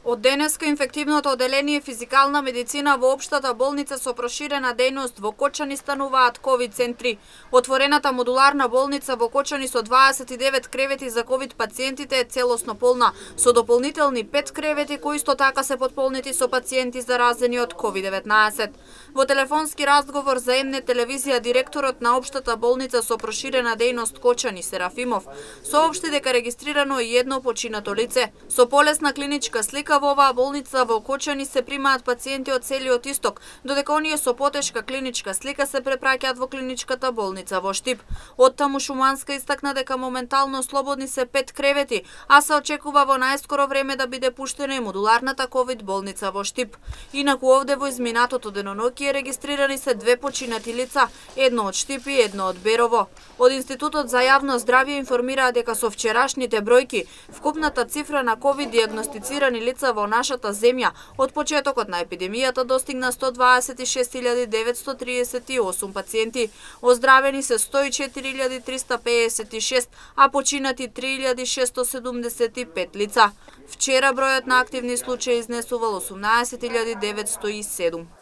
Од денеска инфективното оделение физикална медицина во општата болница со проширена дејност во Кочани стануваат ковид центри. Отворената модуларна болница во Кочани со 29 кревети за ковид пациентите е целосно полна, со дополнителни 5 кревети кои исто така се потполнети со пациенти заразени од COVID-19. Во телефонски разговор за МН телевизија директорот на општата болница со проширена дејност Кочани Серафимов соопшти дека регистрирано е едно починато лице. Со полесна клиничка слика во оваа болница во Кочани се примаат пациенти од целиот исток, додека оние со потешка клиничка слика се препраќаат во клиничката болница во Штип. Оттаму Шуманска истакна дека моментално слободни се 5 кревети, а се очекува во најскоро време да биде пуштена и модуларната ковид болница во Штип. Инаку овде во изминатото деноноќие регистрирани се 2 починати лица, едно од Штип и едно од Берово. Од Институтот за јавно здравје информираа дека со вчерашните бројки вкупната цифра на ковид дијагностицирани лица во нашата земја од почетокот на епидемијата достигна 126.938 пациенти, оздравени се 104.356, а починати 3.675 лица. Вчера бројот на активни случаи изнесувал 18.907.